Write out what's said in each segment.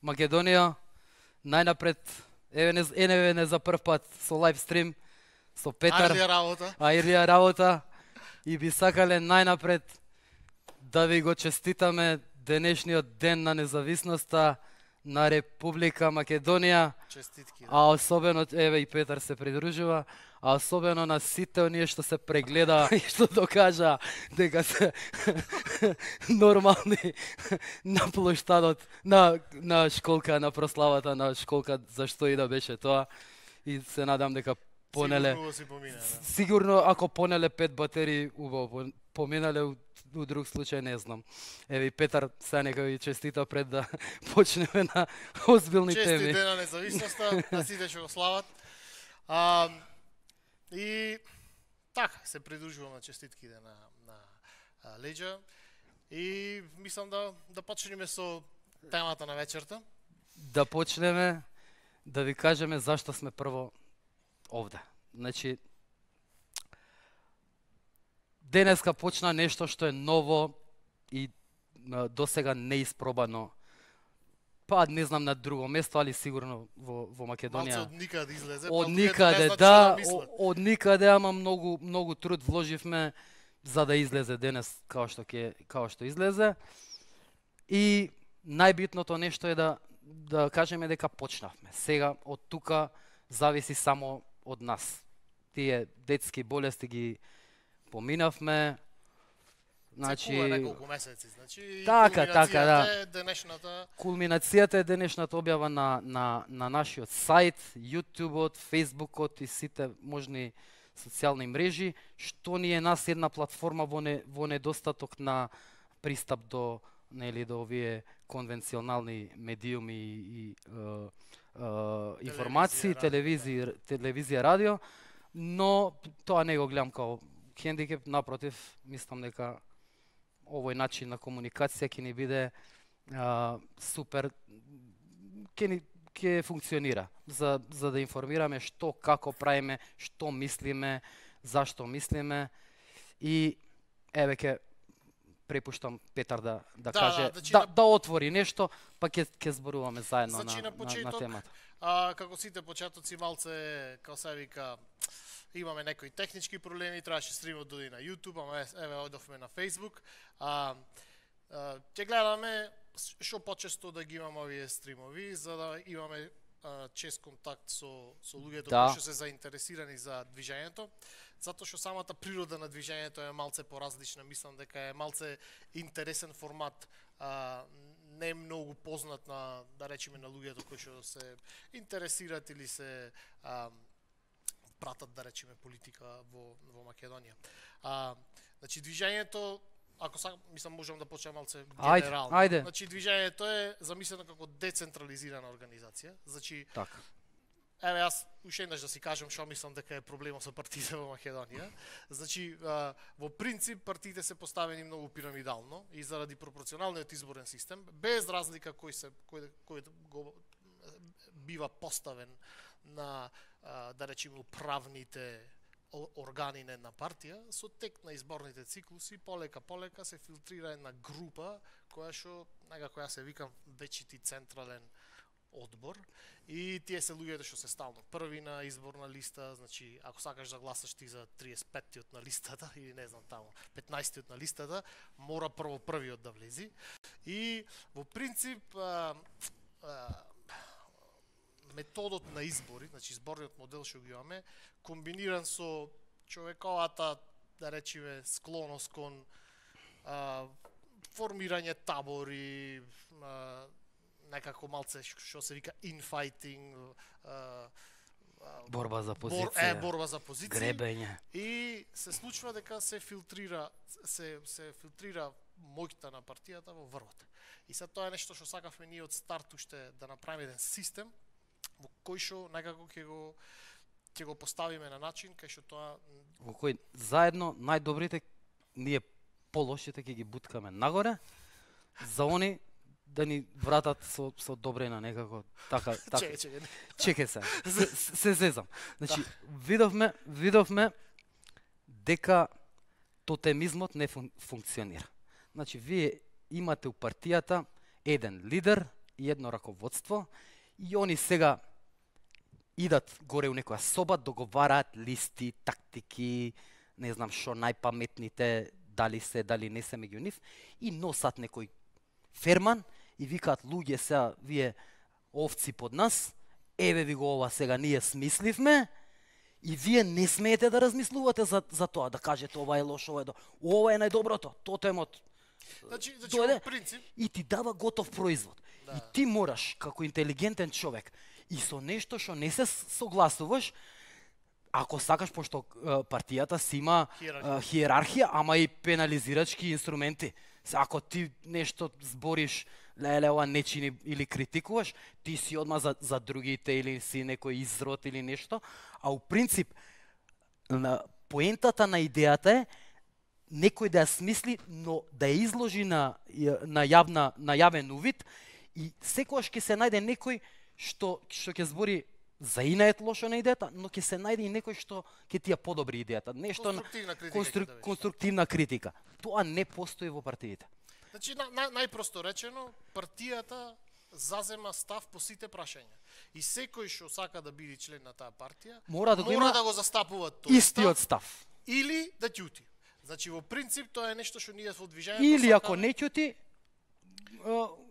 Македонија, најнапред, еве не за прв пат со лайв стрим, со Петар. Ајрлија работа. И би сакале најнапред да ви го честитаме денешниот ден на независноста на Република Македонија. Честитки. А особено, еве и Петар се придружува, а особено на сите оние што се прегледа и што докажа дека се нормални на плоштадот, на школка, на прославата на школка, зашто и да беше тоа. И се надам дека понеле... Сигурно си поминале. Сигурно, ако понеле 5 батерии, убаво, поминале у друг случај не знам. Еве и Петар сега нека ви честита пред да почнеме на озбилни теми. Честит ден на независноста, на сите што го слават. И така, се придружувам на честитките на Леџа. И мислам да почнеме со темата на вечерта. Да почнеме да ви кажеме зашто сме прво овде. Значи, денеска почна нешто што е ново и досега неиспробано. Па не знам на друго место, али сигурно во Македонија. Малце од никаде излезе. Од никаде, да, од никаде, ама многу труд вложивме за да излезе денес као што излезе. И најбитното нешто е да кажеме дека почнавме. Сега од тука зависи само од нас. Тие детски болести ги поминавме. Значи, неколку месеци, значи така, да. Денешната Кулминацијата е денешната објава на нашиот сајт, YouTubeот, Фејсбукот и сите можни социјални мрежи, што ни е нас една платформа во недостаток на пристап до овие конвенционални медиуми и информации, телевизија, радио, но тоа не го гледам као хендикеп, напротив, мислам дека овој начин на комуникација ќе ни биде супер, ќе функционира за да информираме што, како правиме, што мислиме, зашто мислиме. И еве ќе препуштам Петар да каже, да отвори нешто, па ќе зборуваме заедно на темата. Како сите почетоци, малце, како се вика, имаме некои технички проблеми, требаше стримот доди на YouTube, ама еве одовме на Facebook. Ќе гледаме што почесто да ги имаме овие стримови, за да имаме чест контакт со луѓето кои што се заинтересирани за движењето, затоа што самата природа на движењето е малце поразлична, мислам дека е малце интересен формат, не е многу познат на, да речеме, на луѓето кои што се интересираат или се пратат, да речеме, политика во Македонија. Значи, движењето, ако мислам, можам да почнем малце генерално. Ајде. Значи, движењето е замислено како децентрализирана организација. Значи, така. Еве, јас уште еднаш да си кажам што мислам дека е проблемот со партиите во Македонија. Значи, во принцип, партиите се поставени многу пирамидално и заради пропорционалниот изборен систем, без разлика кој го бива поставен на, да речеме, управните органи на една партија, со тек на изборните циклуси, полека се филтрира една група која што, некако јас се викам, вечити централен одбор, и тие се луѓето што се стално први на изборна листа. Значи, ако сакаш да гласаш ти за 35-тиот на листата или не знам таму 15-тиот на листата, мора прво првиот да влези. И во принцип методот на избори, значи изборниот модел што го имаме, комбиниран со човековата, да речеме, склоност кон формирање табори, некако малце што се вика infighting, борба за позиција, гребење. И се случува дека се филтрира моќта на партијата во врвот. И сега тоа е нешто што сакавме ние од старт уште да направиме еден систем во кој што некако ќе го поставиме на начин кај што тоа во кој заедно најдобрите, ние полошите ќе ги буткаме нагоре, за они да ни вратат со добрина некако, така. Чекај се зезам. Значи, видовме дека тотемизмот не функционира. Значи, вие имате у партијата еден лидер, едно раководство и они сега идат горе у некоја соба, договараат листи, тактики, не знам што најпаметните, дали се, дали не се меѓу нив, и носат некој ферман и викаат луѓе сега, вие овци под нас, еве ви го ова сега ние смисливме, и вие не смеете да размислувате за тоа, да кажете ова е лошо, ова е најдоброто, тотемот. Значи дојде во принцип и ти дава готов производ. Да. И ти мораш, како интелигентен човек, и со нешто што не се согласуваш, ако сакаш, пошто партијата си има хиерархија, ама и пенализирачки инструменти. Ако ти нешто збориш, леле, ова не чини или критикуваш, ти си одма за другите или си некој изрод или нешто, а у принцип поентата на идејата е некој да ја смисли, но да ја изложи на јавен увид, и секогаш ќе се најде некој што ќе збори за инает лошо на идејата, но ќе се најде и некој што ќе ти ја подобри идејата. Нешто конструктивна критика. Тоа не постои во партиите. Значи, најпросто речено, партијата зазема став по сите прашања. И секој што сака да биде член на таа партија, мора да го застапува тој истиот став. Или да ќути. Значи, во принцип, тоа е нешто што ние во движењето или ако не ќути,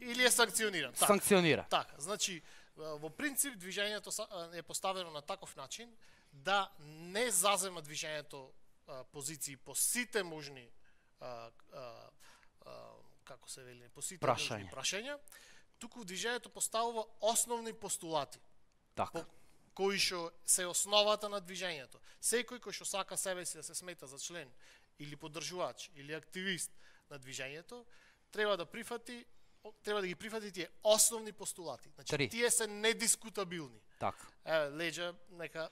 или е санкциониран. Санкционира. Така, значи, во принцип, движењето е поставено на таков начин да не зазема движењето позиции по сите можни како се вели, по сите можни прашања, туку движењето поставува основни постулати. Така. Кои што се основата на движењето. Секој кој што сака себе си да се смета за член или поддржувач или активист на движењето, треба да ги прифати тие основни постулати. Значи, тие се недискутабилни. Така. Леѓа, нека...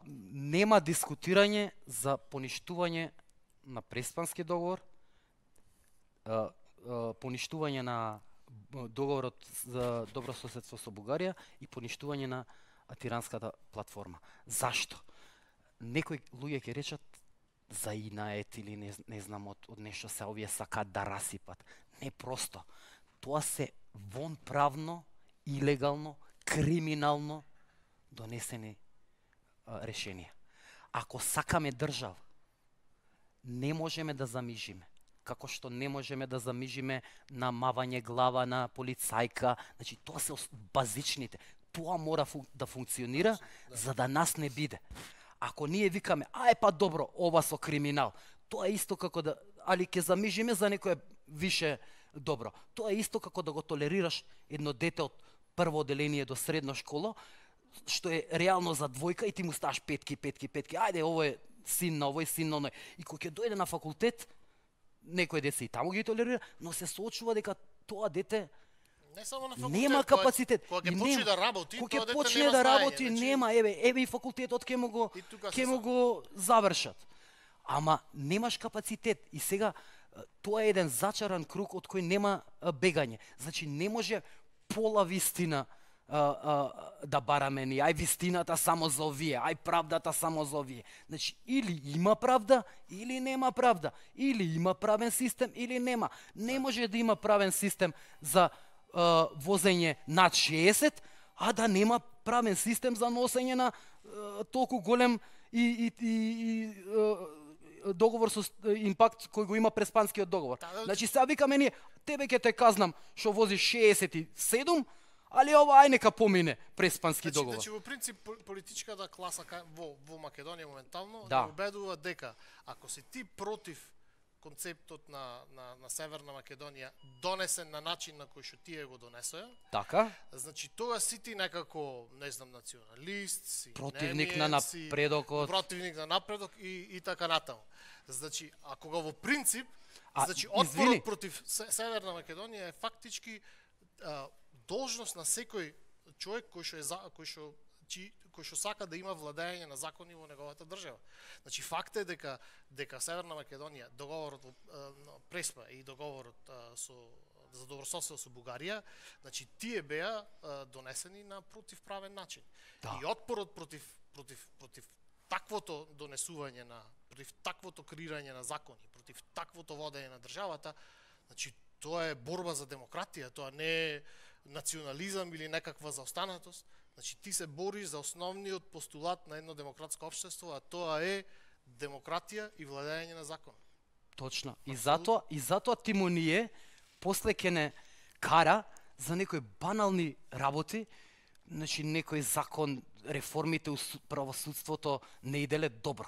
Нема дискутирање за поништување на Преспански договор, поништување на договорот за добрососедство со Бугарија и поништување на Тиранската платформа. Зашто? Некои луѓе ќе речат за инает или не знам од нешто се овие сакаат да расипат. Не просто. Тоа се вонправно, илегално, криминално донесени решенија. Ако сакаме држава, не можеме да замижиме. Како што не можеме да замижиме на мавање глава на полицајка. Значи, тоа се базичните. Тоа мора да функционира, за да нас не биде. Ако ние викаме, па добро, ова со криминал, тоа е исто како да, али ќе замижиме за некое више добро. Тоа е исто како да го толерираш едно дете од прво оделение до средно школа, што е реално за двојка и ти му ставаш петки. Ајде, ово е син на овој, син на оној. И кога ќе дојде на факултет, некој дете и таму ги толерира, но се соочува дека тоа дете не само на факултет, нема капацитет. Кога ќе почне да работи, кога ќе почне да работи, нема, еве и факултетот ќе му го завршат. Ама немаш капацитет и сега тоа е еден зачаран круг од кој нема бегање. Значи не може пола вистина да бараме ни, ај вистината само за овие, ај правдата само за овие. Значи, или има правда, или нема правда. Или има правен систем, или нема. Не може да има правен систем за возење над 60, а да нема правен систем за носење на толку голем и договор со импакт кој го има Преспанскиот договор. Значи, сега викаме ние, тебе ќе те казнам што возиш 67, али ова ај нека помине Преспански договор. Значи, во принцип, политичката класа во Македонија моментално убедува дека ако си ти против концептот на Северна Македонија донесен на начин на кој што тие го донесоа, така, значи тоа си ти некако, не знам, националист, си противник на напредокот, противник на напредок и така натаму. Значи, ако го во принцип, значи отпорот против Северна Македонија е фактички должност на секој човек кој што сака да има владење на закони во неговата држава. Значи факт е дека Северна Македонија, договорот на Преспа и договорот за добрососедство со Бугарија, значи тие беа донесени на противправен начин. И отпорот против таквото донесување против таквото креирање на закони, против таквото водење на државата, значи тоа е борба за демократија, тоа не национализам или некаква заостанатост. Значи ти се бориш за основниот постулат на едно демократско општество, а тоа е демократија и владење на закон. Точно. И затоа Тимоние после ќе не кара за некои банални работи, значи некој закон, реформите у правосудството не иделе добро.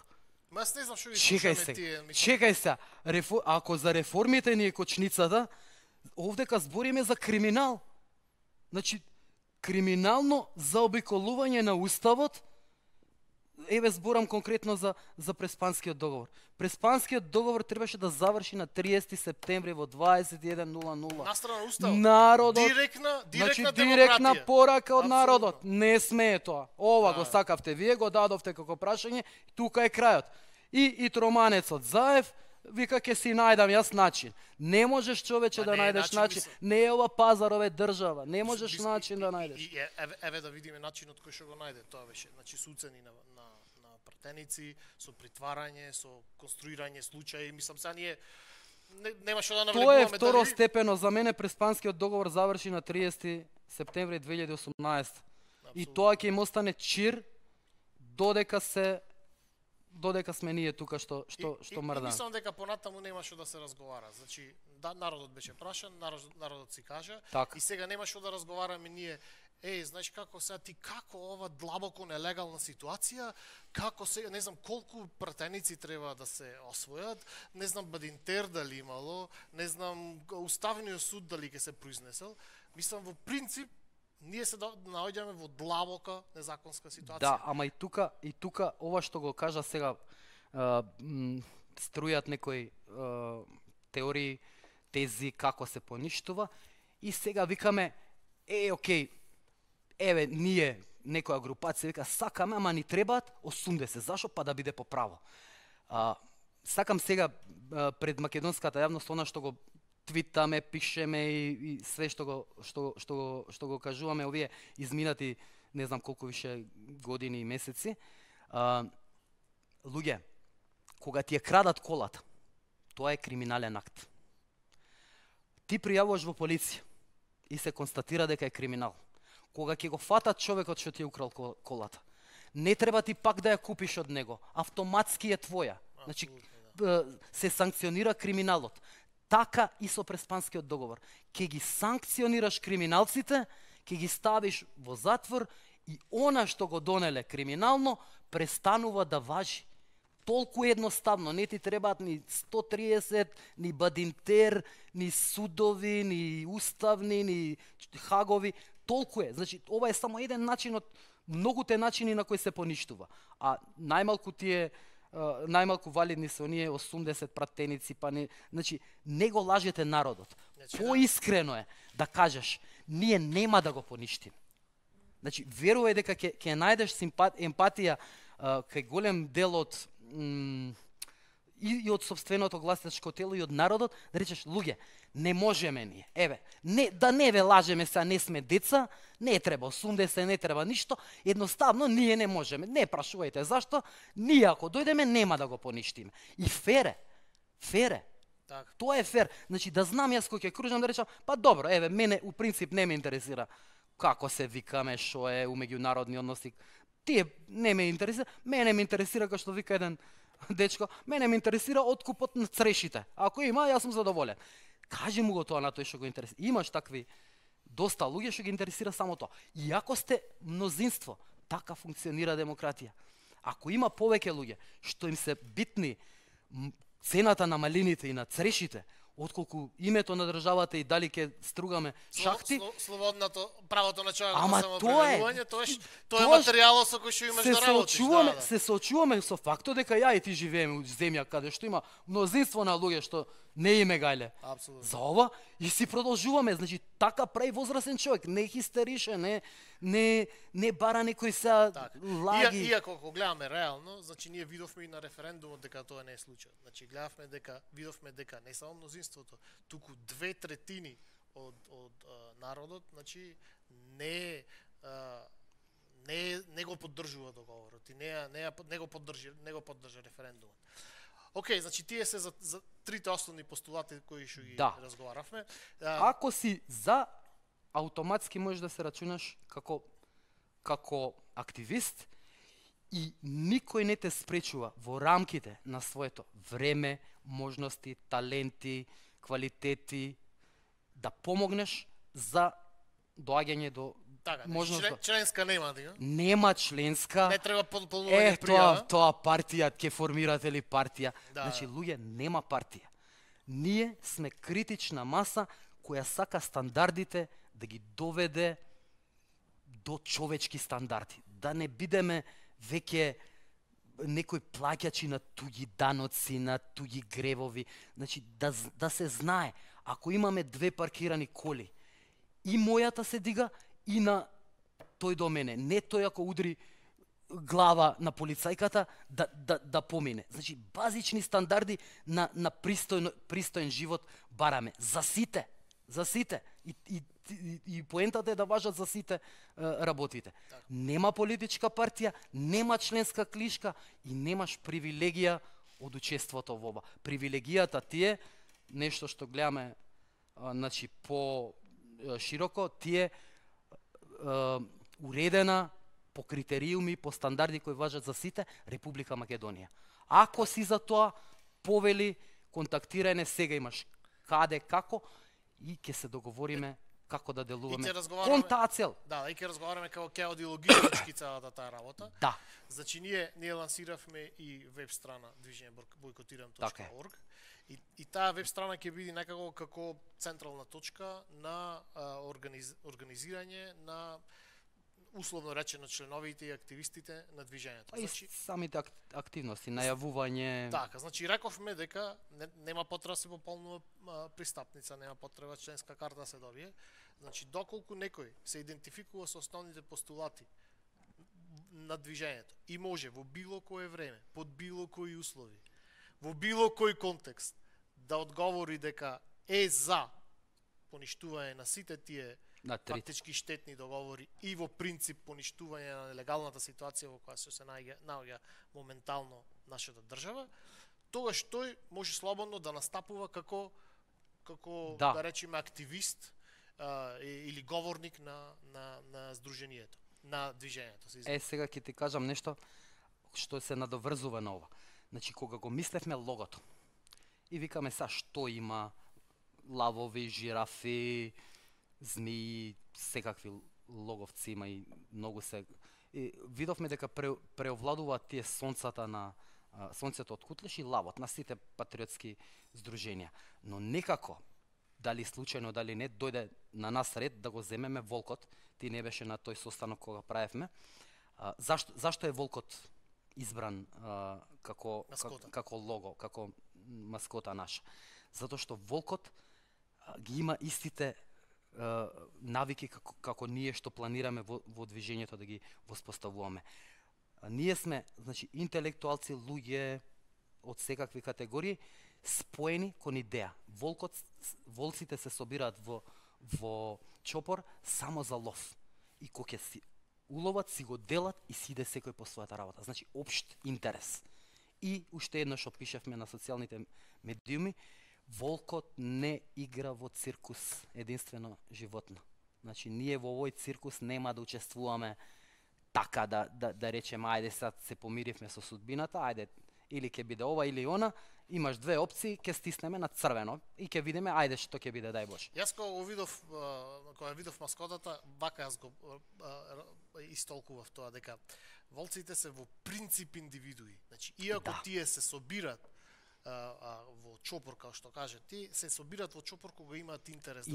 Ма јас не знам што ги Чекај слушаме тие. се. Ако за реформите ни е кочницата, овдека збориме за криминал. Значи, криминално заобиколување на уставот. Еве зборам конкретно за Преспанскиот договор. Преспанскиот договор требаше да заврши на 30 септември во 21:00. Настрана уставот. Народот, директна порака од Апсолютно. народот. Не смее тоа. Ова Да. го сакавте вие, го дадовте како прашање, тука е крајот. И троманецот Заев вика ќе си најдам јас начин. Не можеш човече да не е најдеш начин, начин. мислам. Не е ова пазар, ова е држава. Не можеш начин да најдеш. И еве да видиме начинот кој што го најде. Тоа беше, значи со уцени на пратеници, со притварање, со конструирање случаи, мислам сега ние нема што да Тоа е навлегуваме. второстепено. За мене Преспанскиот договор заврши на 30 септември 2018. И тоа ќе им остане чир додека сме ние тука што мрдаме. Мислам дека понатаму нема што да се разговара. Значи, народот беше прашан, народот си кажа, Так. и сега нема што да разговараме ние. Знаеш како сега ти како ова длабоко нелегална ситуација, како сега не знам колку пратеници треба да се освојат, не знам Бадинтер дали имало, не знам Уставниот суд дали ќе се произнесел. Мислам во принцип ние се наоѓаме во длабока незаконска ситуација. Да, ама и тука ова што го кажа сега струјат некои теории, тези како се поништува и сега викаме окей, еве ние некоја групација вика сакаме, ама ни требаат 80, зашо па да биде по право. Сакам сега пред македонската јавност она што го твитаме, пишеме и све што го кажуваме овие изминати не знам колку више години и месеци. Луѓе, кога ти ја крадат колата, тоа е криминален акт. Ти пријавуваш во полиција и се констатира дека е криминал. Кога ќе го фатат човекот што ти е украл колата, не треба ти пак да ја купиш од него, автоматски е твоја. Значи, се санкционира криминалот. Така и со Преспанскиот договор. Ке ги санкционираш криминалците, ке ги ставиш во затвор и она што го донеле криминално престанува да важи. Толку едноставно, не ти требаат ни 130, ни Бадинтер, ни судови, ни уставни, ни хагови. Толку е. Значи, ова е само еден начин од многуте начини на кои се поништува. А најмалку валидни се оние 80 пратеници, па не, значи не го лажете народот. Поискрено е да кажеш, ние нема да го поништиме. Значи верувај дека ќе најдеш емпатија кај голем дел од и од собственото гласачко тело и од народот, да речеш луѓе, не можеме ние. Еве, не ве лажеме сега, не сме деца, не треба 80, не треба ништо, едноставно ние не можеме. Не прашувајте зашто, ние ако дојдеме нема да го поништиме. И фере. Так. Тоа е фер. Значи да знам јас кој ќе кружам да речам, па добро, еве мене у принцип не ме интересира како се викаме, што е у меѓународни односи. Тие не ме интересира, мене ме интересира како што вика еден дечко, мене ме интересира откупот на црешите. Ако има, јас сум задоволен. Кажи му го тоа на тој што го интересира. Имаш такви доста луѓе што ги интересира само тоа. И ако сте мнозинство, така функционира демократија. Ако има повеќе луѓе што им се битни цената на малините и на црешите, отколку името на државата и дали ќе стругаме шахти, слободното правото на човекот ама на самоопределување, тоа е материјалот со кој што имаш да работиш. Се соочуваме со фактот дека ја и ти живееме во земја каде што има мнозинство на луѓе што не име гајле. Апсолутно. За ова и си продолжуваме, значи така прави возрастен човек, не хистерише, не бара некој се лаги. Иако ако гледаме реално, значи ние видовме и на референдумот дека тоа не е случај. Значи видовме дека не само мнозинството, туку 2/3 од народот, значи не го поддржува договорот и не го поддржа референдумот. Океј, значи тие се за трите основни постулати кои што ги разговаравме. Ако си за автоматски можеш да се рачунаш како активист и никој не те спречува во рамките на своето време, можности, таленти, квалитети да помогнеш за доаѓање до Така, можност. членска нема дига. Нема членска. Не треба полнување Тоа партија ќе формирате ли партија? Да, Значи луѓе нема партија. Ние сме критична маса која сака стандардите да ги доведе до човечки стандарди. Да не бидеме веќе некои плаќачи на туѓи даноци, на туѓи гревови. Значи да се знае, ако имаме 2 паркирани коли, и мојата се дига и на тој до мене. Не тој ако удри глава на полицајката да помине. Значи базични стандарди на пристоен живот бараме за сите. За сите. И поентата е да важат за сите работите. Так. Нема политичка партија, нема членска книжка и немаш привилегија од учеството во ова. Привилегијата ти е нешто што гледаме значи по широко, ти е уредена по критериуми, по стандарди кои важат за сите, Република Македонија. Ако си за тоа, повели, контактирање, сега имаш каде, како, и ќе се договориме како да делуваме кон таа цел. Да, и ќе разговараме како логистички целата таа работа. Да. Значи ние лансиравме и веб страна движење бойкотирам.org. И таа веб страна ќе биде некако како централна точка на организирање на условно речено членовите и активистите на движењето. Значи, и самите активности, најавување. Така, значи рековме дека нема потреба се пополнува пристапница, нема потреба членска карта се добие. Значи доколку некој се идентификува со основните постулати на движењето и може во било кое време, под било кои услови, во било кој контекст да одговори дека е за поништување на сите тие фактички штетни договори и во принцип поништување на нелегалната ситуација во која се наоѓа моментално нашата држава, тогаш тој може слободно да настапува како да речеме активист или говорник на здруженијето, на движењето. Сега ќе ти кажам нешто што се надоврзува на ова. Значи кога го мислевме логото и викаме са што има лавови, жирафи, змии, секакви логовци има и многу се. И видовме дека преовладуваат тие сонцата на сонцето од Кутлеш и лавот на сите патриотски здруженија. Но некако, дали случајно, дали не, дојде на нас ред да го земеме волкот. Ти не беше на тој состанок кога правевме. Зашто е волкот избран како лого, како маскота наша? Затоа што волкот ги има истите навики како ние што планираме во движењето да ги воспоставуваме. Ние сме, значи, интелектуалци, луѓе од секакви категории, споени кон идеја. Волците се собираат во чопор само за лов. И кога ќе си уловат, си го делат и си иде секој по својата работа. Значи, општ интерес. И уште едно што пишевме на социјалните медиуми, волкот не игра во циркус единствено животно. Значи, ние во овој циркус нема да учествуваме така да речеме, ајде сега се помиривме со судбината, ајде или ќе биде ова или она, имаш две опции, ќе стиснеме на црвено и ќе видиме ајде што ќе биде, дај Боже. Јас кога видов маскотата, вака јас го истолкував тоа дека волците се во принцип индивидуи. Значи, иако тие се собират во чопор, како што кажа ти, се собират во чопор кога имаат интерес.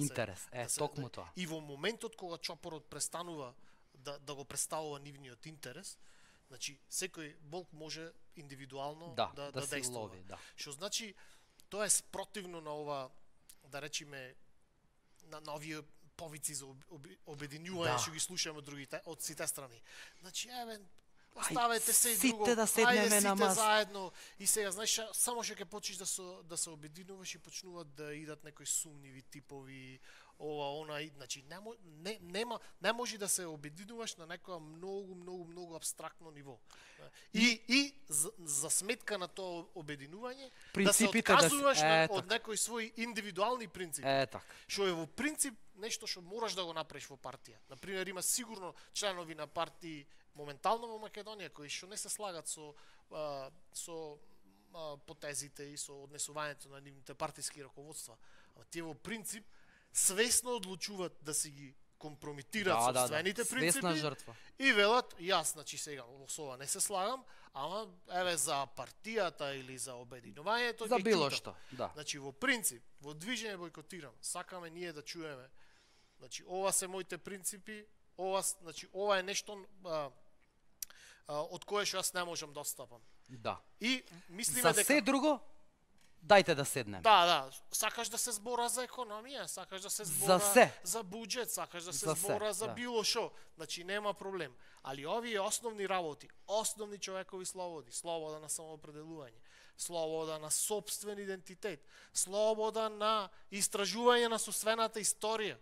Токму тоа. И во моментот кога чопорот престанува да го представува нивниот интерес, значи секој волк може индивидуално да действува. Што значи тоа е спротивно на ова, да речеме, на овие повици за обединување што ги слушаме од другите, од сите страни. Значи, Оставете се и друго. Сите да седнеме Ајде, на сите маса. заедно. И сега, знаеш, само што ќе почнеш да се обединуваш и почнуваат да идат некои сумниви типови, ова, она, значи не може да се обединуваш на некоја многу абстрактно ниво. И за сметка на тоа обединување, да се отказуваш од некои своји индивидуални принципи. Така. Што е во принцип нешто што мораш да го направиш во партија. Например, има сигурно членови на партии моментално во Македонија кои што не се слагат со потезите и со однесувањето на нивните партиски раководства. А тие во принцип свесно одлучуваат да си ги компрометираат собствените принципи. Свесна жртва. И велат, јас, значи сега со ова не се слагам, ама еве за партијата или за обединувањето за било што, да. Значи во принцип, во движење бојкотирам, сакаме ние да чуеме. Значи ова се моите принципи, ова е нешто од кое што јас не можам да отстапам. Да. И мислиме за се друго дајте да седнем. Да, сакаш да се збора за економија, сакаш да се збора за буџет, сакаш да се збора за било што, значи нема проблем. Али овие основни работи, основни човекови слободи, слобода на самоопределување, слобода на сопствен идентитет, слобода на истражување на сопствената историја.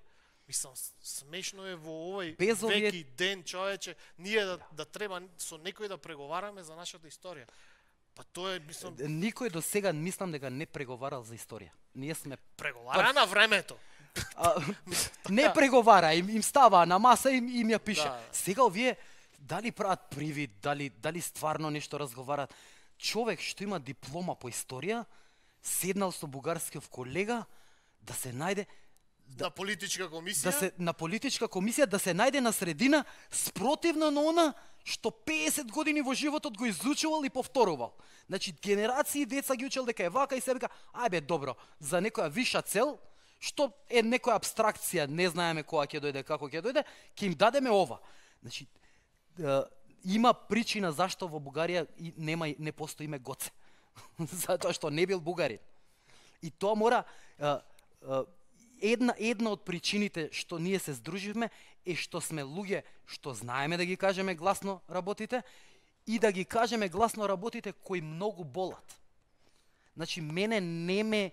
Мислам, смешно е во овој веки ден, човече, ние да треба со некој да преговараме за нашата историја. Па тоа е, мислам... Никој до сега мислам дека не преговарал за историја. Ние сме... Преговара на времето. Не преговара, им става на маса и им ја пише. Сега овие дали прават привид, дали стварно нешто разговарат. Човек што има диплома по историја, седнал со бугарскиот колега да се најде на политичка комисија? На политичка комисија да се најде на средина спротивна на она што 50 години во животот го изучувал и повторувал. Значи, генерации деца ги учел дека е вака и се вика, ајбе, добро, за некоја виша цел, што е некоја абстракција, не знаеме која ќе дојде, како ќе дојде, ќе им дадеме ова. Значи, има причина зашто во Бугарија не постои име Гоце. Затоа што не бил бугарин. И тоа мора... Една од причините што ние се здруживме е што сме луѓе што знаеме да ги кажеме гласно работите и да ги кажеме гласно работите кои многу болат. Значи, мене не ме...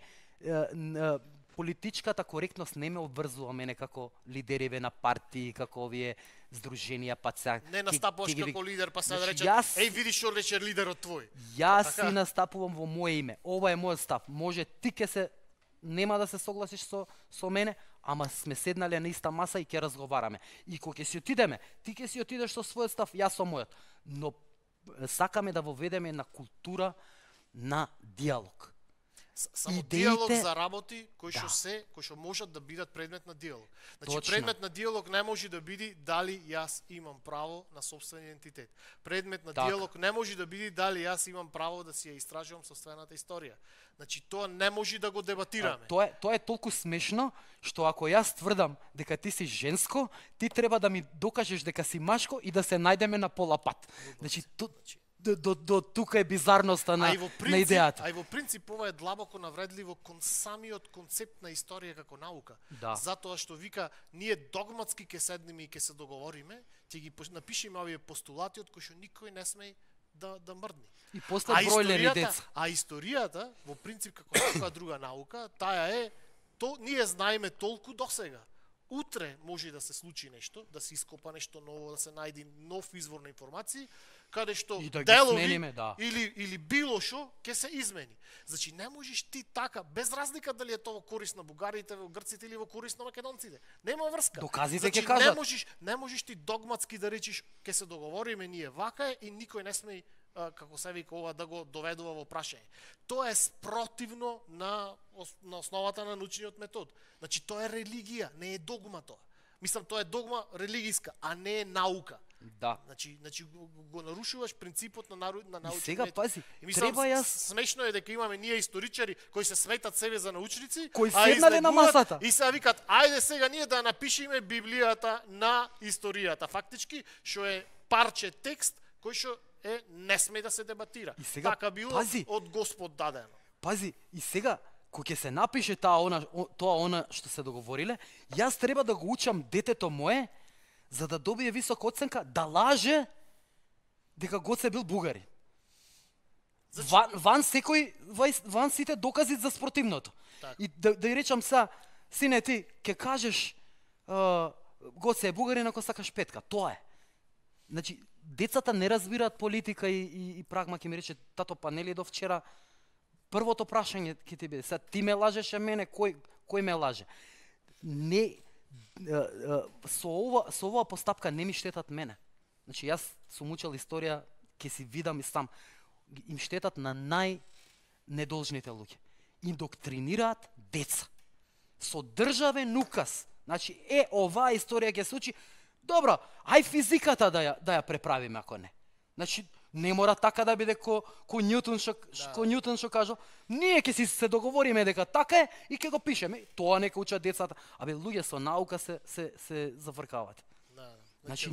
политичката коректност не ме обврзува мене како лидериве на партии, како овие здруженија, па сега... Не настапуваш како лидер, па се да рече, еј, видиш што рече лидерот твој. Јас си настапувам во моје име. Ова е мојот став. Може ти ке се... Нема да се согласиш со мене, ама сме седнале на иста маса и ќе разговараме. И кога ќе си отидеме, ти ќе си отидеш со својот став, јас со мојот. Но сакаме да воведеме една култура на диалог. Само диалог за работи кои што можат да бидат предмет на диалог. Значи, предмет на диалог не може да биде дали јас имам право на сопствен идентитет. Предмет на диалог не може да биде дали јас имам право да си ја истражувам сопствената историја. Значи, тоа не може да го дебатираме. Тоа е толку смешно, што ако јас тврдам дека ти си женско, ти треба да ми докажеш дека си машко и да се најдеме на пола пат. Значи, до тука е бизарноста на идејата. А и во принцип ова е длабоко навредливо кон самиот концепт на историја како наука. Да. Затоа што вика, ние догматски ќе седнеме и ќе се договориме, ќе ги напишеме овие постулати од кои што никој не сме да мрдни. И после бројлери деца. А историјата, во принцип како некоја друга наука, таа е, ние знаеме толку досега. Утре може да се случи нешто, да се ископа нешто ново, да се најде нов извор на информации, каде што делови или било што ќе се измени. Значи не можеш ти така, без разлика дали е тоа корист на бугарите, грците или во корист на македонците. Нема врска. Доказите ќе кажат. Не можеш ти догматски да речиш ќе се договориме ние вака е и никој не сме како се вика ова да го доведува во прашање. Тоа е спротивно на основата на научниот метод. Значи тоа е религија, не е догма тоа. Мислам тоа е догма религиска, а не е наука. Да. Значи го нарушуваш принципот на научниот метод. Сега пази, треба јас смешно е дека имаме ние историчари кои се сметат себе за научници, кои седнале на масата и се викат ајде сега ние да напишеме Библијата на историјата. Фактички што е парче текст кој што не сме да се дебатира. Така било од Господ дадено. Пази, и сега кога ќе се напише тоа што се договориле, јас треба да го учам детето мое за да добие висока оценка, да дека Гоце бил бугарин. Значи, Ван сите докази за спротивното. Так. И да ја речам са, сине ти, ке кажеш Гоце е бугарин ако сакаш петка, тоа е. Значи, децата не разбираат политика и прагма ќе ми рече, тато, па нели до вчера првото прашање ќе ти биде, сега ти ме лажеше мене, кој ме лаже? Не, со оваа постапка не ми штетат мене. Значи, јас сум учел историја, ќе си видам и сам, им штетат на најнедолжните луѓе. Индоктринираат деца. Со државен указ. Значи, оваа историја ќе се учи, добро, ај физиката да ја преправиме ако не. Значи, не мора така да биде ко Њутон што кажал, ние ќе си се договориме дека така е и ќе го пишеме. Тоа нека учат децата. Абе, луѓе со наука се завркават. Да. Значи,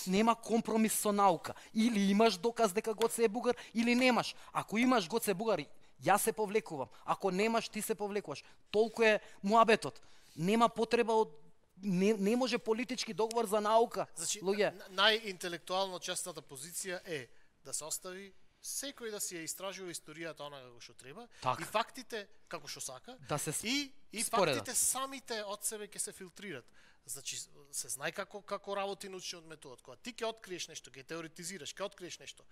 нема компромис со наука. Или имаш доказ дека Гоце е бугар, или немаш. Ако имаш Гоце е бугар, јас се повлекувам. Ако немаш, ти се повлекуваш. Толку е муабетот. Нема потреба од не може политички договор за наука. Значи, луѓе. најинтелектуално честната позиција е да се остави секој да си ја истражува историјата она како што треба, Така. и фактите како што сака, Да се и споредат. фактите самите од себе ќе се филтрират. Значи, се знае како работи научниот метод. Кога ти ќе откриеш нешто, ќе теоретизираш, ќе откриеш нешто,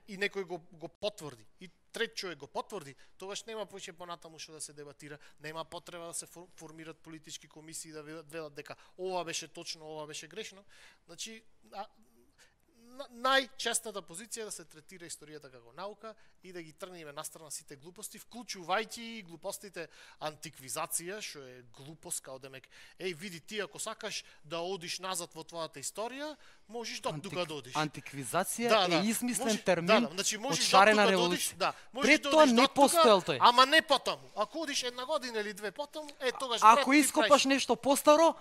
и некој го потврди, и трет човек го потврди, тогаш нема повеќе понатаму што да се дебатира, нема потреба да се формираат политички комисии да велат дека ова беше точно, ова беше грешно. Значи, најчестната позиција е да се третира историјата како наука и да ги тргнеме настрана сите глупости, вклучувајќи и глупостите антиквизација, што е глупост, као демек, види ти ако сакаш да одиш назад во твојата историја, можеш тука да одиш. Антиквизација е измислен термин значи, од шарена револуција. Пред тоа не постоел тој. Ама не потаму. Ако одиш една година или две потаму, тогаш ако ископаш нешто постаро,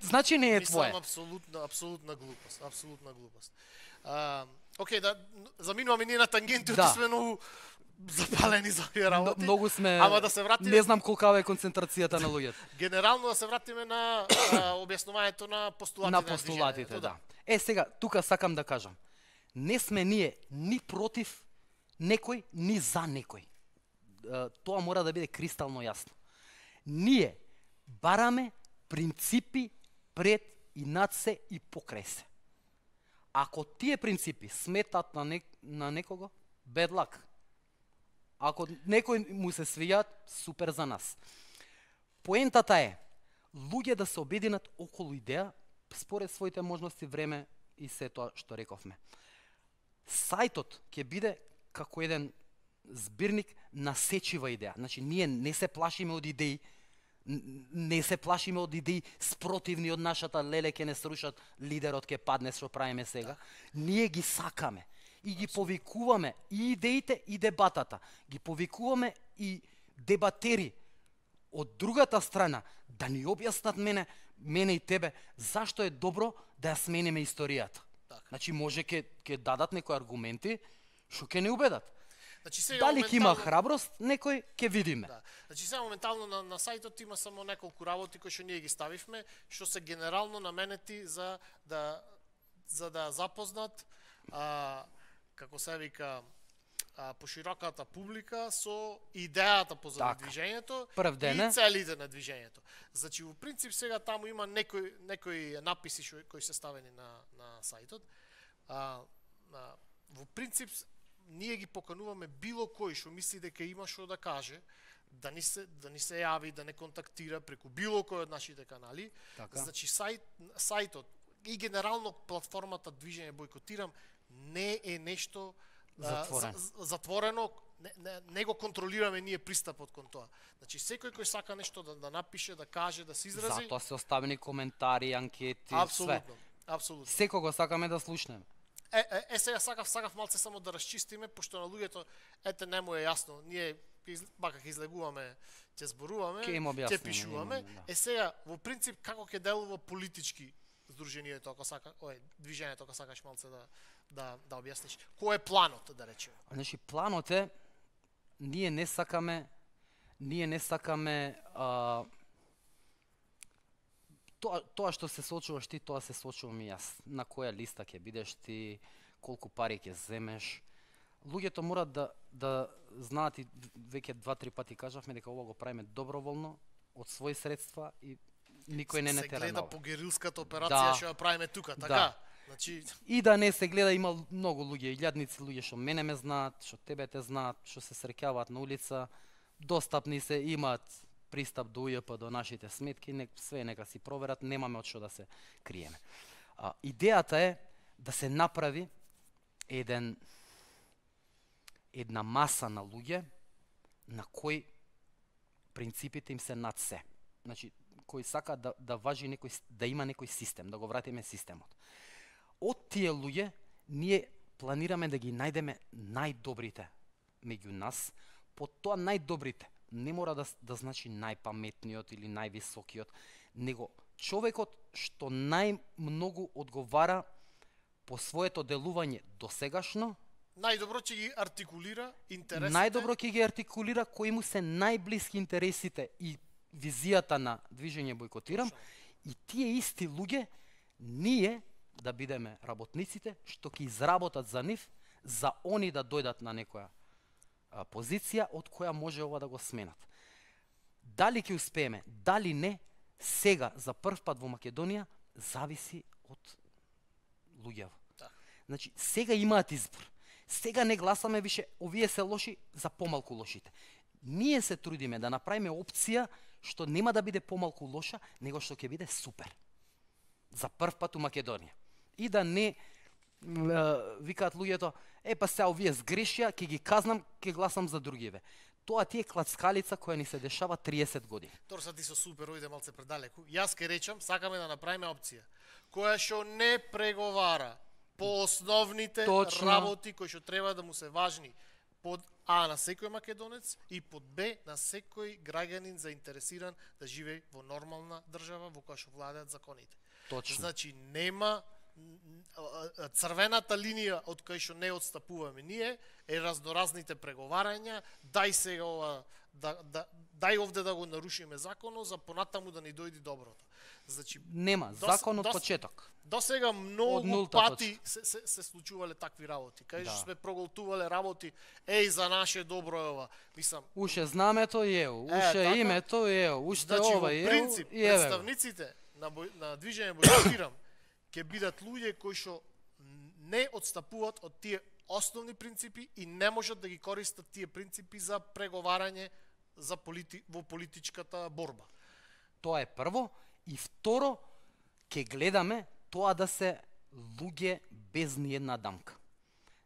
значи не е твое. Мислам, апсолутна глупост, апсолутна глупост. Океј, да заминуваме ние на тангенти, сме многу запалени за овие работи. Многу сме, ама да се вратиме, не знам колкава е концентрацијата на луѓето. Генерално да се вратиме на објаснувањето на постулатите. На постулатите, да. Сега, тука сакам да кажам. Не сме ние ни против некој, ни за некој. Тоа мора да биде кристално јасно. Ние бараме принципи пред и над се и покрај се. Ако тие принципи сметат на некого, bad luck. Ако некој му се свијат, супер за нас. Поентата е, луѓе да се обединат околу идеја, според своите можности, време и се тоа што рековме. Сајтот ќе биде како еден збирник на сечива идеја. Значи, ние не се плашиме од идеи, не се плашиме од идеи спротивни од нашата, леле ќе не срушат, лидерот ќе падне, што правиме сега. Ние ги сакаме и ги повикуваме и идеите и дебатата. Ги повикуваме и дебатери од другата страна да ни објаснат мене и тебе зашто е добро да ја смениме историјата. Значи, може ќе дадат некои аргументи што ќе не убедат. Значи, дали ќе има храброст, некој ќе видиме. Да. Значи, сега моментално на сајтот има само неколку работи кои што ние ги ставивме, што се генерално наменети за да запознат, како се вика, пошироката публика со идејата позади движењето и целите на движењето. Значи, во принцип сега таму има некои написи кои се ставени на сајтот. Во принцип ние ги покануваме било кој што мисли дека има што да каже, да ни се јави, да не контактира преку било кој од нашите канали. Така. Значи сајтот и генерално платформата Движење Бойкотирам не е нешто затворено, не го контролираме ние пристапот кон тоа. Значи секој кој сака нешто да напише, да каже, да се изрази. Затоа се оставени коментари, анкети, све. Апсолутно. Секого сакаме да слушнеме. Сега сакав малце само да расчистиме, пошто на луѓето не му е јасно. Ние бака ќе излегуваме, ќе зборуваме, ќе пишуваме. Сега во принцип како ќе делува политички здруженијето, ако сака, движењето, ако сакаш малце да објасниш. Кој е планот, да речеме? Значи планот е ние не сакаме тоа што се сочуваш ти, тоа се сочувам и јас. На која листа ќе бидеш ти, колку пари ќе земеш. Луѓето морат да знаат, и веќе 2-3 пати кажавме дека ова го правиме доброволно од своји средства и никој не тера на ова. Се гледа по герилската операција што ја правиме тука, така? Да. Значи И да не се гледа, има многу луѓе, илјадници луѓе што мене ме знаат, што тебе те знаат, што се среќаваат на улица, достапни се, имаат пристап до УЈП, до нашите сметки, све нека си проверат, немаме од што да се криеме. Идејата е да се направи една маса на луѓе на кои принципите им се над се. Значи, кои сака да важи да има некој систем, да го вратиме системот. Од тие луѓе ние планираме да ги најдеме најдобрите меѓу нас. По тоа најдобрите не мора да значи најпаметниот или највисокиот, него човекот што најмногу одговара по своето делување досегашно, најдобро ќе ги артикулира интересите. Најдобро ќе ги артикулира кои му се најблиски интересите и визијата на движење Бојкотирам, и тие исти луѓе ние да бидеме работниците што ќе изработат за нив, за они да дојдат на некоја позиција од која може ова да го сменат. Дали ќе успееме, дали не, сега за прв пат во Македонија зависи од луѓето. Значи, сега имаат избор. Сега не гласаме више овие се лоши за помалку лошите. Ние се трудиме да направиме опција што нема да биде помалку лоша, него што ќе биде супер. За прв пат у Македонија. И да не викаат луѓето, па сега овие сгрешија, ќе ги казнам, ќе гласам за другиве. Тоа ти е клацкалица која ни се дешава 30 години. Торса ти со супер, ојде малце предалеку. Јас ке речам, сакаме да направиме опција која што не преговара по основните работи кои што треба да му се важни под А на секој македонец и под Б на секој граѓанин заинтересиран да живее во нормална држава во која што владеат законите. Точно. Значи нема црвената линија од која што не отстапуваме ние е разноразните преговарања, дај сега ова дај овде да го нарушиме законот за понатаму да ни дојде доброто. Значи нема закон од почеток. До сега многу пати се случувале такви работи. Кај што сме проголтувале работи, за наше добро е ова. Мислам, уше знамето е, уше името е, уште ова е. Значи, во принцип, представниците на движење Бојкотирам ќе бидат луѓе кои што не отстапуваат од тие основни принципи и не можат да ги користат тие принципи за преговарање во политичката борба. Тоа е прво. И второ, ќе гледаме тоа да се луѓе без ни една дамка.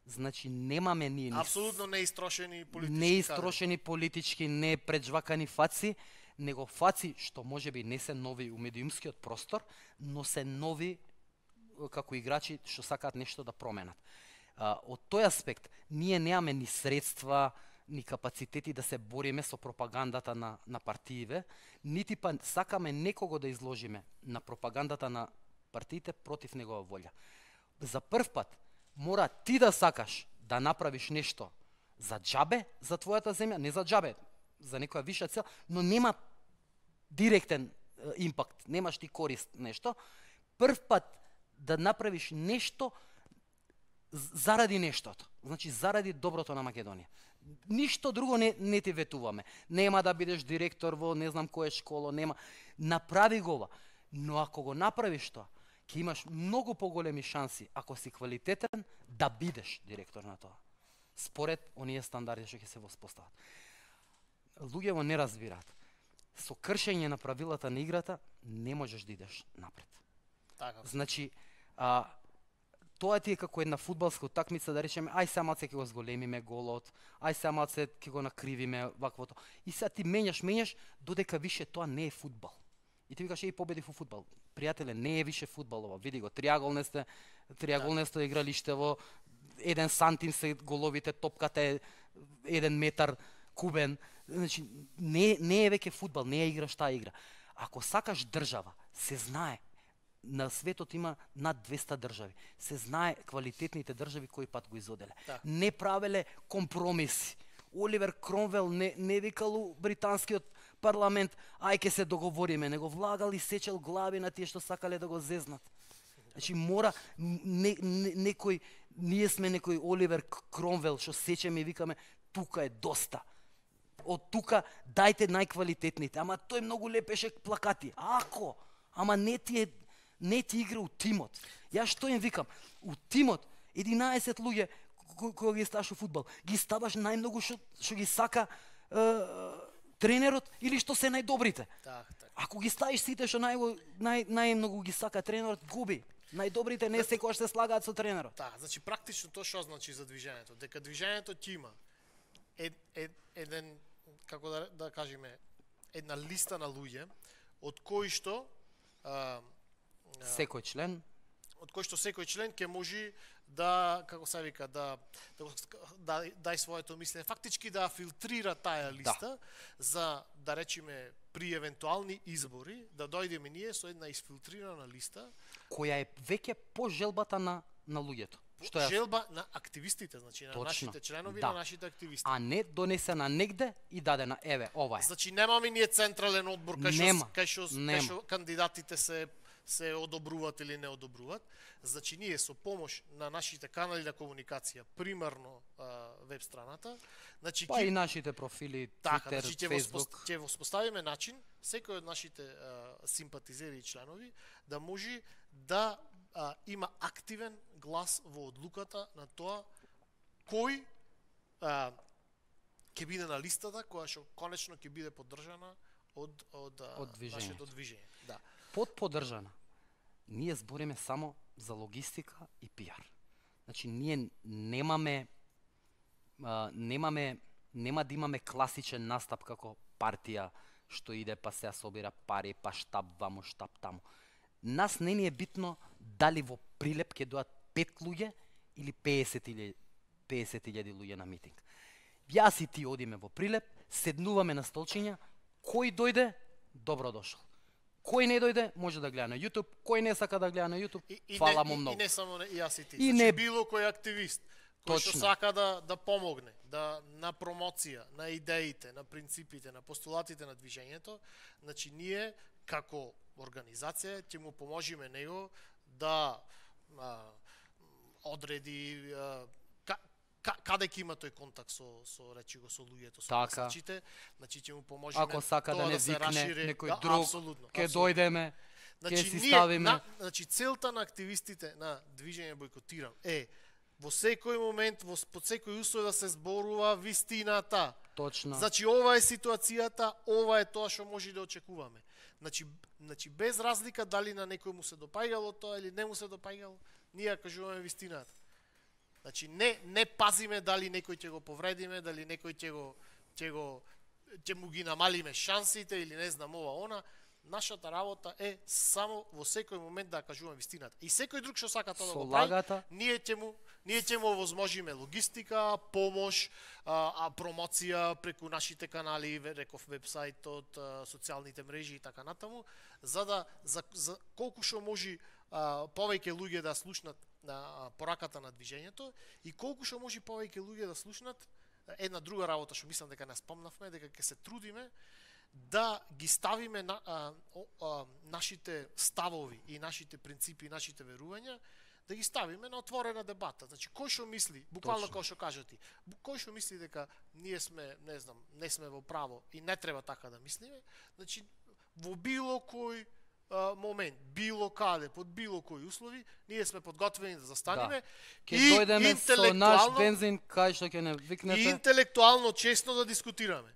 Значи, немаме ние апсолутно неистрошени политички неистрошени политички, не преджвакани фаци, него фаци што можеби не се нови у медиумскиот простор, но се нови како играчи што сакаат нешто да променат. Од тој аспект, ние немаме ни средства, ни капацитети да се бориме со пропагандата на партиите, нити па сакаме некого да изложиме на пропагандата на партиите против негова волја. За прв пат мора ти да сакаш да направиш нешто за џабе за твојата земја, не за џабе, за некоја виша цел, но нема директен импакт, немаш ти корист нешто, прв пат да направиш нешто заради нештото, значи заради доброто на Македонија. Ништо друго не ти ветуваме. Нема да бидеш директор во не знам која школа, нема. Направи го ова. Но ако го направиш тоа, ќе имаш многу поголеми шанси, ако си квалитетен, да бидеш директор на тоа. Според оние стандарди што ќе се воспостават. Луѓето не разбираат. Со кршење на правилата на играта не можеш да идеш напред. Така. Значи, тоа ти е како една фудбалска утакмица, да речеме, ај сега малце ќе го зголемиме голот, ај сега малце ќе го накривиме ваквото. И сега ти менјаш, додека више тоа не е фудбал. И ти викаш, победи во фудбал. Пријателе, не е више фудбал ова. Види го, триаголнесто игралиштево, 1 сантим се головите, топката е 1 метар кубен. Значи, не е веќе фудбал, не е играш таа игра. Ако сакаш држава, се знае, на светот има над 200 држави. Се знае квалитетните држави кој пат го изоделе. Не правеле компромиси. Оливер Кромвел не викал британскиот парламент, ај ке се договориме, него влагал и сечел глави на тие што сакале да го зезнат. Значи мора некој Ние сме некој Оливер Кромвел што сечеме и викаме тука е доста. Од тука дајте најквалитетните. Ама тој многу лепеше плакати. Ако, ама не ти игра у тимот. Ја што им викам? У тимот 11 луѓе кои ги ставаш у фудбал, ги ставаш најмногу што ги сака тренерот или што се најдобрите. Так. Ако ги ставиш сите што најмногу ги сака тренерот, губи. Најдобрите не секогаш се слагаат со тренерот. Да, значи практично тоа што значи за движењето, дека движењето ќе има еден, како да кажеме, една листа на луѓе од кои што секој член ќе може да, како се вика, да дај своето мислење, фактички да филтрира таа листа за, да речеме, при евентуални избори, да дојдеме ние со една изфилтрирана листа која е веќе по желбата на луѓето. Желба на активистите, значи на нашите членови, на нашите активисти. А не донесена негде и дадена, еве, ова е. Значи немаме ние централен одбор кај што кандидатите се одобруваат или не одобруваат. Значи ние со помош на нашите канали на комуникација, примарно веб страната, значи па и нашите профили, Twitter, Facebook, ќе воспоставиме начин секој од нашите симпатизери и членови да може да има активен глас во одлуката на тоа кој ќе биде на листата која што конечно ќе биде поддржана од нашето движење. Да. Под поддржана. Ние збориме само за логистика и пиар. Значи ние нема да имаме класичен настап како партија што иде па се собира пари, па штаб ваму, штаб таму. Нас не ни е битно дали во Прилеп ќе дојат 5 луѓе или 50.000 луѓе на митинг. Јас и ти одиме во Прилеп, седнуваме на столчиња, кој дојде, добро дошол. Кој не дојде, може да гледа на YouTube, кој не сака да гледа на YouTube, фала му многу. И не само јас и ти, значи било кој активист, кој што сака да помогне, на промоција, на идеите, на принципите, на постулатите на движењето, значи ние како организација ќе му поможиме него да одреди каде ќе има тој контакт со речи го со луѓето, со гласачите, значи ќе му поможиме. Ако сака да не викне некој друг, ќе дојдеме, ќе си ставиме. Значи целта на активистите на движење Бојкотирам е во секој момент, под секој услов да се зборува вистината. Точно. Значи ова е ситуацијата, ова е тоа што може да очекуваме. Значи без разлика дали на некој му се допаѓало тоа или не му се допаѓало, ние кажуваме вистината. Значи не пазиме дали некој ќе го повредиме, дали некој ќе му ги намалиме шансите или не знам ова она. Нашата работа е само во секој момент да кажуваме вистината. И секој друг што сака тоа да го прави, ние ќе му овозможиме логистика, помош, промоција преку нашите канали, реков вебсајтот, социјалните мрежи и така натаму, за колку што може повеќе луѓе да слушнат на пораката на движењето и колку што може повеќе луѓе да слушнат една друга работа што мислам дека не спомнавме, дека ќе се трудиме да ги ставиме нашите ставови и нашите принципи и нашите верувања, да ги ставиме на отворена дебата. Значи кој што мисли, буквално како што кажа ти, кој што мисли дека ние сме, не знам, не сме во право и не треба така да мислиме, значи во било кој момент, било каде, под било кои услови, ние сме подготвени да застанеме и дојдеме со наш бензин кај што ќе не викнете и интелектуално честно да дискутираме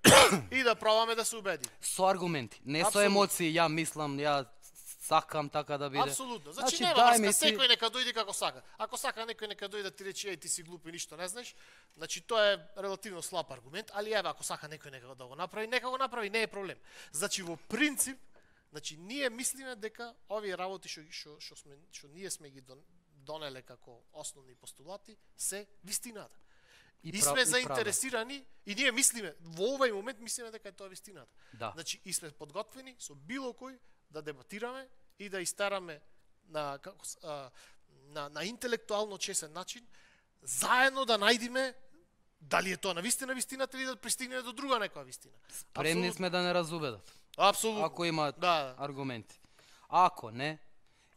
и да пробаме да се убедиме. Со аргументи, не со емоции, ја мислам, ја сакам така да биде. Апсолутно. Значи нема врска, секој нека дојде како сака. Ако сака некој нека дојде ти рече еј ти си глуп и ништо не знаеш, значи тоа е релативно слаб аргумент, али еве ако сака некој нека да го направи, нека го направи, не е проблем. Значи во принцип, значи ние мислиме дека овие работи што ние сме ги донеле како основни постулати се вистината. И сме заинтересирани и ние мислиме во овој момент мислиме дека е тоа вистината. Значи и сме подготвени со било кој да дебатираме и да истараме на интелектуално чесен начин, заедно да најдиме дали е тоа навистина вистината или да пристигне до друга некоја вистина. Спремни сме да не разубедат. Апсолутно. Ако имаат аргументи. Ако не,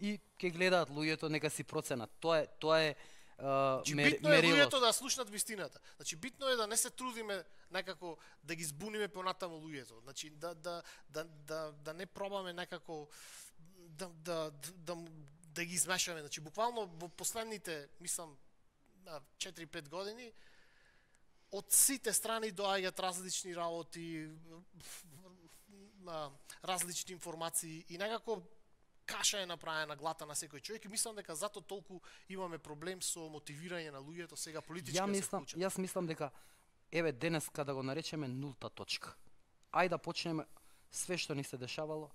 и ќе гледаат луѓето, нека си проценат. Тоа е битно е луѓето да слушнат вистината. Значи битно е да не се трудиме некако да ги збуниме понатаму луѓето. Значи да не пробаме некако да ги измешаме. Значи буквално во последните, мислам, 4-5 години од сите страни доаѓаат различни работи, различни информации и некако каша е направена глата на секој човек и мислам дека затоа толку имаме проблем со мотивирање на луѓето сега политички да се вклучат. Јас мислам дека еве денес када го наречеме нулта точка. Ајде да почнеме све што ни се дешавало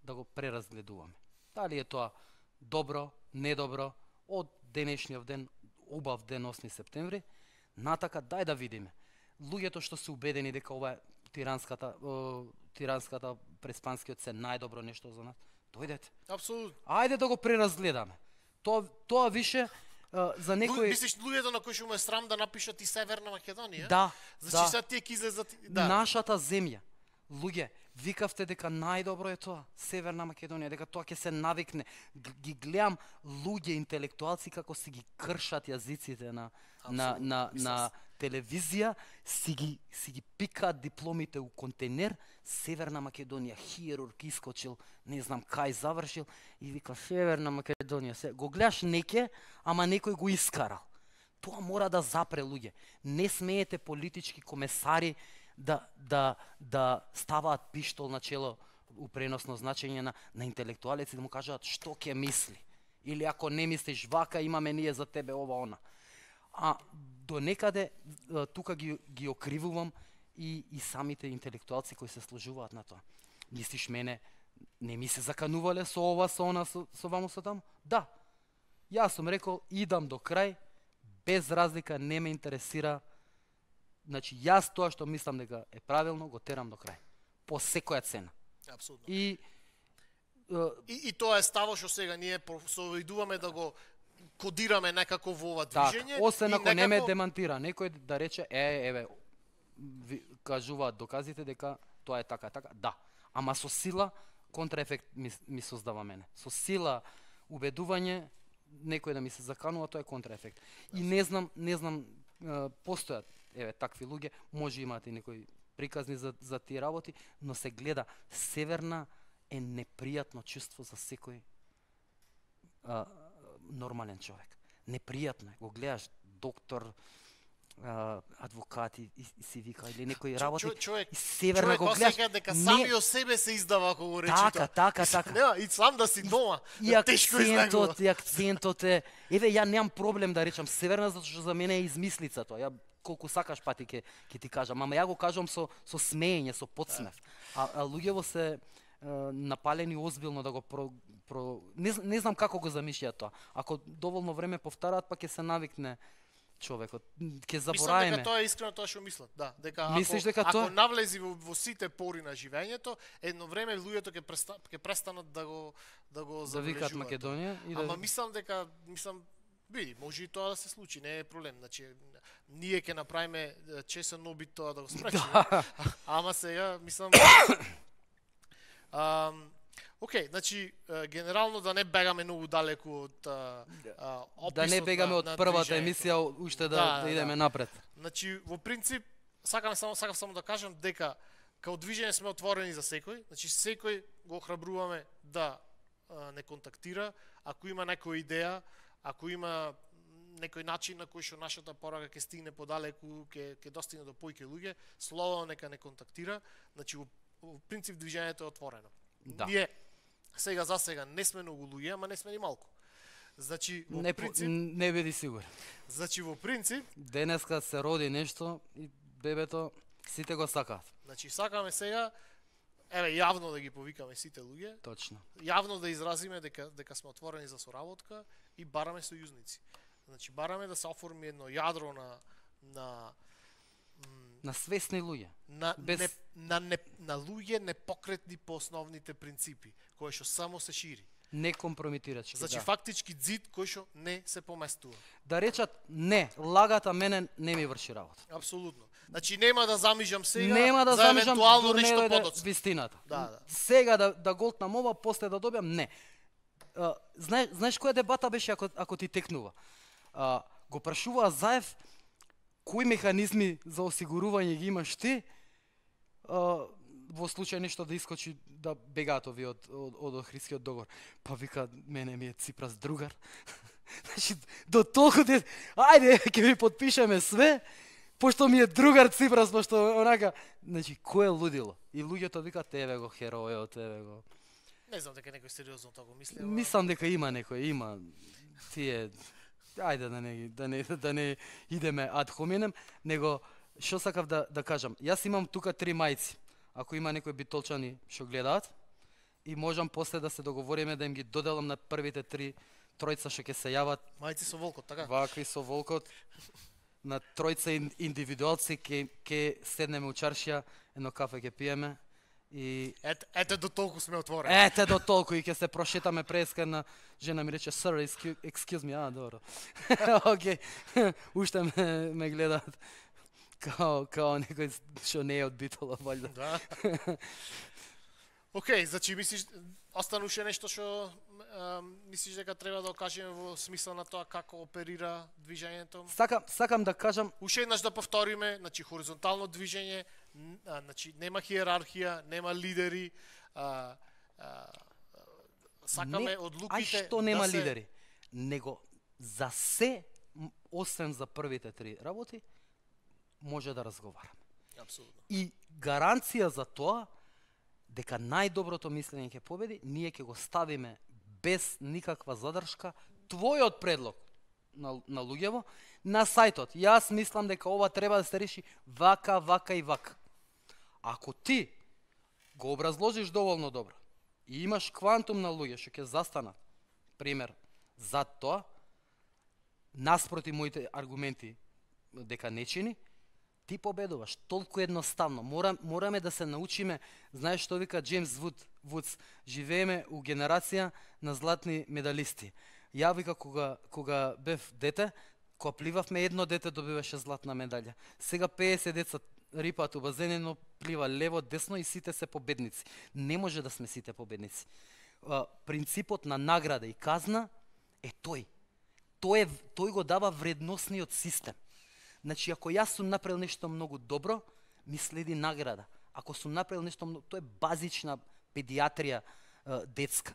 да го преразгледуваме. Дали е тоа добро, недобро, од денешниот ден, убав ден 8 септември, натака дај да видиме. Луѓето што се убедени дека ова е тиранската преспанскиот се најдобро нешто за нас, дојдете. Апсолутно. Ајде да го преразгледаме. Тоа више за некој... Мислиш луѓето на кои што му е срам да напишат и Северна Македонија? Да, значи сега тие ќе излезат... Да. Нашата земја. Луѓе, викавте дека најдобро е тоа, Северна Македонија, дека тоа ќе се навикне. Ги гледам луѓе интелектуалци како си ги кршат јазиците на телевизија, си ги пикаат дипломите у контейнер, Северна Македонија, хирург искочил, не знам кај завршил и вика Северна Македонија. Го гледаш неке, ама некој го искарал. Тоа мора да запре луѓе. Не смеете политички комесари да ставаат пиштол на чело у преносно значење на интелектуалеци да му кажаат што ќе мисли. Или ако не мислиш вака, имаме ние за тебе ова она. А до некаде тука ги окривувам и самите интелектуалци кои се служуваат на тоа. Мислиш мене, не ми се заканувале со ова, со она, со ваму, со таму? Да. Јас сум рекол, идам до крај, без разлика, не ме интересира. Значи, јас тоа што мислам дека е правилно, го терам до крај. По секоја цена. Апсолутно. И тоа е ставо што сега ние се обидуваме да го кодираме некако во ова движење. Так, освен ако не ме демантира некој да рече, еве, кажуваат доказите дека тоа е така. Да, ама со сила контраефект ми создава мене. Со сила убедување некој да ми се заканува, тоа е контраефект. И не знам, постојат еве такви луѓе, може имате и некои приказни за тие работи, но се гледа Северна е непријатно чувство за секој нормален човек. Непријатно е. Го гледаш доктор, адвокати и си вика или некои работи. Човек Северна го гледаш. Човек дека сами од себе се издава ако го речи тоа. Така. Нема, и сам да си дома. И акцентот е. Еве ја немам проблем да речам Северна затоа што за мене е измислица тоа. Ја колку сакаш пати ќе ти кажам, ама ја го кажам со смеење, со подсмев. А луѓето се напалени озбилно да го не знам како го замишљаат тоа. Ако доволно време повтараат, па ќе се навикне човекот. Ќе забораеме. Мислам дека тоа е искрено тоа што мислат. Да, дека ако навлези во сите пори на живењето, едно време луѓето ќе престанат да го завикаат Македонија и ама мислам дека види, може и тоа да се случи, не е проблем. Значи ние ќе направиме чесен обид тоа да го спречиме. Ама сега мислам Океј, значи генерално да не бегаме многу далеку од описот. Да не бегаме од првата емисија уште да идеме напред. Значи во принцип сакам само да кажам дека као движење сме отворени за секој, значи секој го охрабруваме да не контактира, ако има некоја идеја, ако има некој начин на кој што нашата порака ќе стигне подалеку, ќе достигне до поиќе луѓе, слободно нека не контактира, значи во принцип движењето е отворено. Да. Ние сега за сега не сме многу луѓе, ама не сме ни малку. Значи во принцип не биди сигурен. Значи во принцип денеска се роди нешто и бебето сите го сакаат. Значи сакаме сега еве јавно да ги повикаме сите луѓе. Точно. Јавно да изразиме дека сме отворени за соработка и бараме сојузници. Значи бараме да се оформи едно јадро на свесни луѓе. На луѓе непокретни по основните принципи, кои што само се шири. Не компромитирачки. Значи фактички ѕид кој што не се поместува. Да речат не, лагата мене не ми врши работа. Апсолутно. Значи нема да замижам сега за евентуално нешто подоцна. Вистината. Да. Сега да голтнам ова, после да добиам, не. Знаеш која дебата беше ако ти текнува? го прашуваа Заев кои механизми за осигурување ги имаш ти во случај нешто да искочи да бегаат овие од Охридскиот договор. Па вика, мене ми е Ципрас другар. Значи, до толку ајде, ќе ви подпишеме све, пошто ми е другар Ципрас, пошто онака, значи, кој е лудило? И луѓето викаат, еве го херојот, еве го. Не знам дека некој сериозно тоа го мисли. Мислам дека има некој, има тие, ајде да не идеме ад хоминем, него што сакав да кажам, јас имам тука 3 мајци. Ако има некои битолчани што гледаат, и можам после да се договориме да им ги доделам на првите 3 тројца што ќе се јават. Мајци со волкот, така? Вакви со волкот. На тројца индивидуалци ќе седнеме у чаршија, едно кафе ќе пиеме и ете до толку сме отворени. Ете до толку и ќе се прошетаме преска на жена ми рече sir excuse me, добро. Океј. Уште ме гледаат као некој што не е од Битола, валјда. Да. Океј, значи мислиш остануше нешто што мислиш дека треба да окажеме во смисла на тоа како оперира движењето? Сакам да кажам, уште еднаш да повториме, значи хоризонтално движење, значи нема хиерархија, нема лидери, сакаме одлуките. А што нема лидери? Него за се, освен за првите 3 работи, може да разговараме. Апсолутно. И гаранција за тоа дека најдоброто мислење ќе победи, ние ќе го ставиме без никаква задршка твојот предлог на луѓево на сајтот. Јас мислам дека ова треба да се реши вака, вака и вака. Ако ти го образложиш доволно добро и имаш квантум на луѓе што ќе застанат, пример, за тоа, наспроти моите аргументи дека не чини, ти победуваш. Толку едноставно. Мораме да се научиме, знаеш што вика Джеймс Вудс, живееме у генерација на златни медалисти. Ја вика кога бев дете, кога пливавме, едно дете добиваше златна медалја. Сега 50 деца рипаат у базенено, плива лево, десно и сите се победници. Не може да сме сите победници. Принципот на награда и казна е тој. Тој го дава вредносниот систем. Значи, ако јас сум направил нешто многу добро, ми следи награда. Ако сум направил нешто многу, тоа е базична педиатрија детска.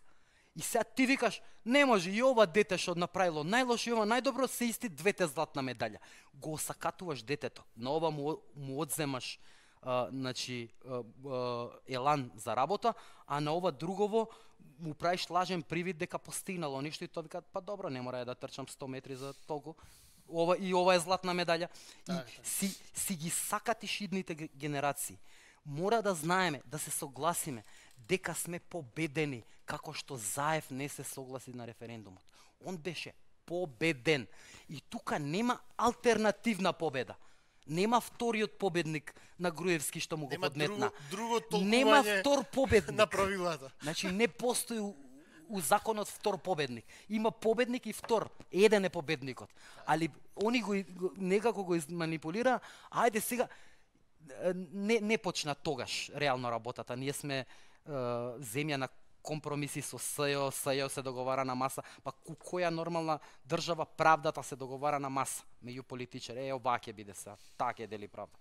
И сега ти викаш, не може и ова дете што направило најлошо и ова најдобро, се исти двете златна медалја. Го осакатуваш детето. На ова му одземаш елан за работа, а на ова другово му правиш лажен привид дека постигнало нешто и тоа вика, па добро, не мора да трчам 100 метри за толку. Ова е златна медалја. И си ги сакатиш идните генерации. Мора да знаеме, да се согласиме дека сме победени, како што Заев не се согласи на референдумот. Он беше победен. И тука нема алтернативна победа. Нема вториот победник на Груевски што му го подметна. Нема втор победник на правилата. Значи не постои у законот втор победник. Има победник и втор. Еден е победникот. Али они некако го изманипулира. Ајде сега не почна тогаш реално работата. Ние сме земја на компромиси со СЈО, СЈО се договара на маса, па која нормална држава правдата се договара на маса меѓу политичари. Ова ќе биде сега, таа ќе дели правда.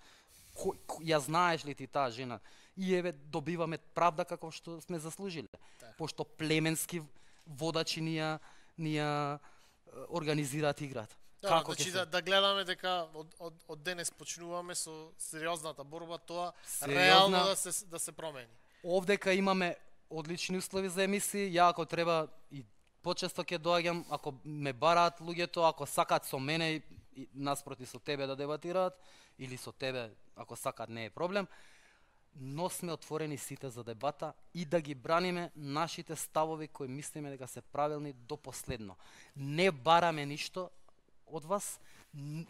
Ја знаеш ли ти таа жена? И еве добиваме правда како што сме заслужиле. Пошто племенски водачи ни организираат играта. Значи да гледаме дека од денес почнуваме со сериозната борба, тоа реално да се промени. Овдека имаме одлични услови за емисии, ја ако треба и почесто ќе доаѓам, ако ме бараат луѓето, ако сакаат со мене и наспроти со тебе да дебатираат, или со тебе, ако сакаат, не е проблем, но сме отворени сите за дебата и да ги браниме нашите ставови кои мислиме дека се правилни до последно. Не бараме ништо од вас,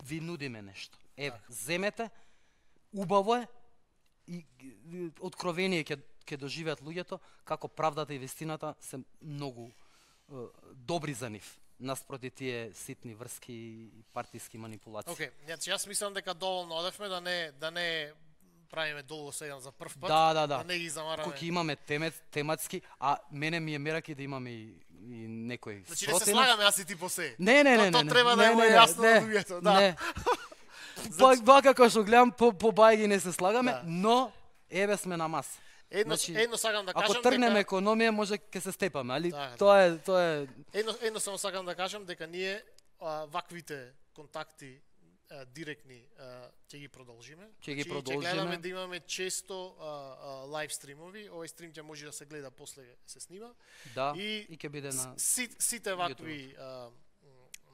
ви нудиме нешто. Земете, убаво е и откровение ќе доживеат луѓето како правдата и вистината се многу добри за нив наспроти тие ситни врски и партиски манипулации. Океј, јас мислам дека доволно одевме да не правиме долго сега за прв пат, Да. не ги замараме. Кој имаме тематски, а мене ми е мераки да имаме и некој Значи не се слагаме јас и ти по се. Не. То треба да е јасно на луѓето, да. Не. Вака како што гледам по бајги не се слагаме, Да. но еве сме на маса. Едно сакам да кажам ако тргнеме економија може ќе се степаме, али Да. тоа е Едно само сакам да кажам дека ние ваквите контакти директни ќе ги продолжиме. Ќе ги Ќе продолжиме. гледаме да имаме често лайв стримови. Овој стрим ќе може да се гледа после се снима. да И и ќе биде на сите вакви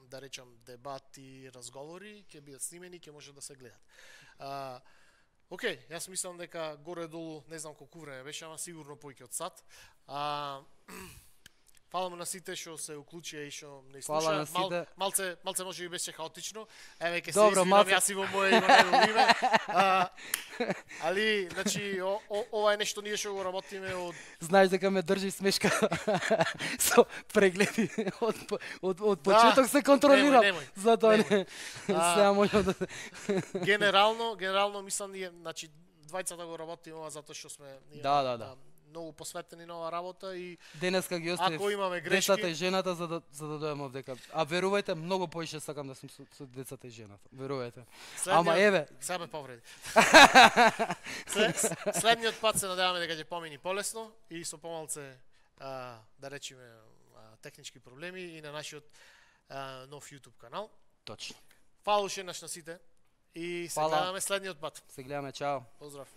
да речам дебати, разговори ќе бидат снимени, ќе може да се гледат. Океј, јас мислам дека горе-долу, не знам колку време беше, ама сигурно повеќе од сат. Фала на сите што се уклучија и што не слуша. Фала на сите. Малце може би беше хаотично. Еве ќе се Добро, извинам малце. јас и во моје и во негово име. Али, значи, ова е нешто ние што го работиме од знаеш дека ме држи смешка со прегледи од почеток се контролирам. Немој. Затоа не сега можам да Генерално мислам ние, значи двајцата го работиме ова затоа што сме ние Да. многу посветени на оваа работа и денеска ги оставив ако имаме грешки, децата и жената за да дојдам овдека. А верувајте, многу поише сакам да сум со децата и жената. Верувајте. Ама еве, сега ме повреди. Следниот пат се надеваме дека ќе помини полесно и со помалце да речеме технички проблеми и на нашиот нов YouTube канал. точно. Фала уште на сите и се Фала. гледаме следниот пат. Се гледаме, чао. Поздрав.